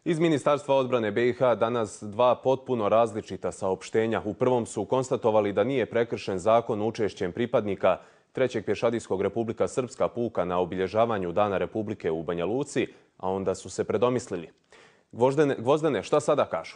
Iz Ministarstva odbrane BiH danas dva potpuno različita saopštenja. U prvom su konstatovali da nije prekršen zakon učešćem pripadnika 3. pješadijskog Republika Srpska puka na obilježavanju Dana Republike u Banja Luci, a onda su se predomislili. Gvozdene, šta sada kažu?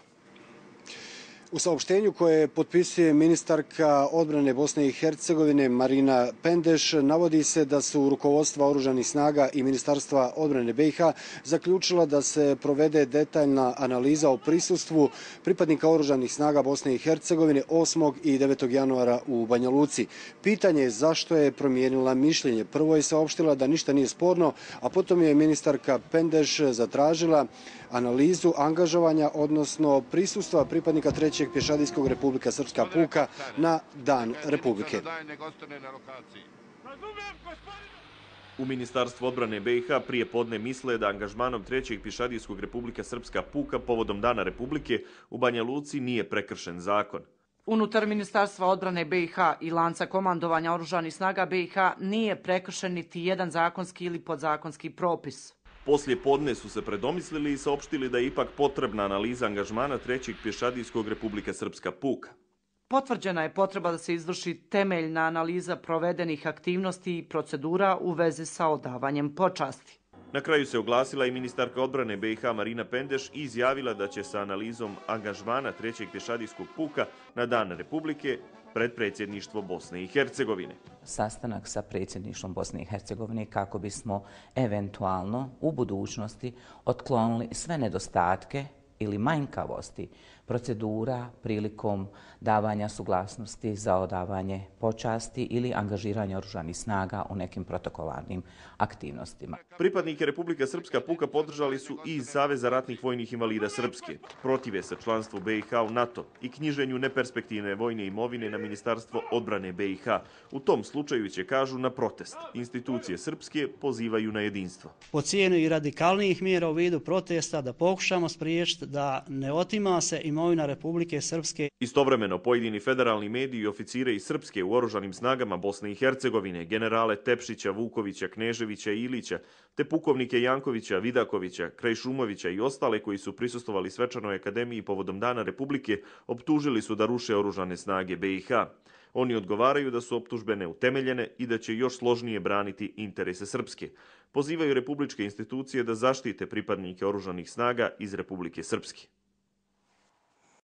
U saopštenju koje potpisuje ministarka odbrane Bosne i Hercegovine Marina Pendeš navodi se da su rukovodstva oružanih snaga i Ministarstva odbrane BiH zaključila da se provede detaljna analiza o prisustvu pripadnika oružanih snaga Bosne i Hercegovine 8. i 9. januara u Banja Luci. Pitanje je zašto je promijenila mišljenje. Prvo je saopštila da ništa nije sporno, a potom je ministarka Pendeš zatražila analizu angažovanja, odnosno prisustva pripadnika 3. pješadijskog Republika Srpska puka na Dan Republike. U Ministarstvu odbrane BiH prije podne misle da angažmanom 3. pješadijskog Republika Srpska puka povodom Dana Republike u Banja Luci nije prekršen zakon. Unutar Ministarstva odbrane BiH i lanca komandovanja oružanih snaga BiH nije prekršen niti jedan zakonski ili podzakonski propis. Poslije podne su se predomislili i saopštili da je ipak potrebna analiza angažmana 3. pješadijskog Republika Srpska puka. Potvrđena je potreba da se izvrši temeljna analiza provedenih aktivnosti i procedura u vezi sa odavanjem počasti. Na kraju se oglasila i ministarka odbrane BiH Marina Pendeš i izjavila da će sa analizom angažmana 3. pješadijskog puka na Dan Republike pred predsjedništvo Bosne i Hercegovine. Sastanak sa predsjedništvom Bosne i Hercegovine kako bismo eventualno u budućnosti otklonili sve nedostatke ili manjkavosti procedura prilikom davanja suglasnosti za odavanje počasti ili angažiranje oružanih snaga u nekim protokolarnim aktivnostima. Pripadnike Republika Srpska puka podržali su i iz Saveza ratnih vojnih invalida Srpske. Protive se članstvu BiH u NATO i knjiženju neperspektivne vojne imovine na Ministarstvo odbrane BiH. U tom slučaju će, kažu, na protest. Institucije srpske pozivaju na jedinstvo. Po cijenu i radikalnijih mjera u vidu protesta da pokušamo spriječiti da ne otima se imovina Republike Srpske. Istovremeno, pojedini federalni mediji i oficire iz Srpske u oružanim snagama Bosne i Hercegovine, generale Tepšića, Vukovića, Kneževića i Ilića, te pukovnike Jankovića, Vidakovića, Krajšumovića i ostale koji su prisustvovali svečanoj akademiji povodom Dana Republike, optužili su da ruše oružane snage BiH. Oni odgovaraju da su optužbe neutemeljene i da će još složnije braniti interese Srpske. Pozivaju republičke institucije da zaštite pripadnike oružanih snaga iz Republike Srpske.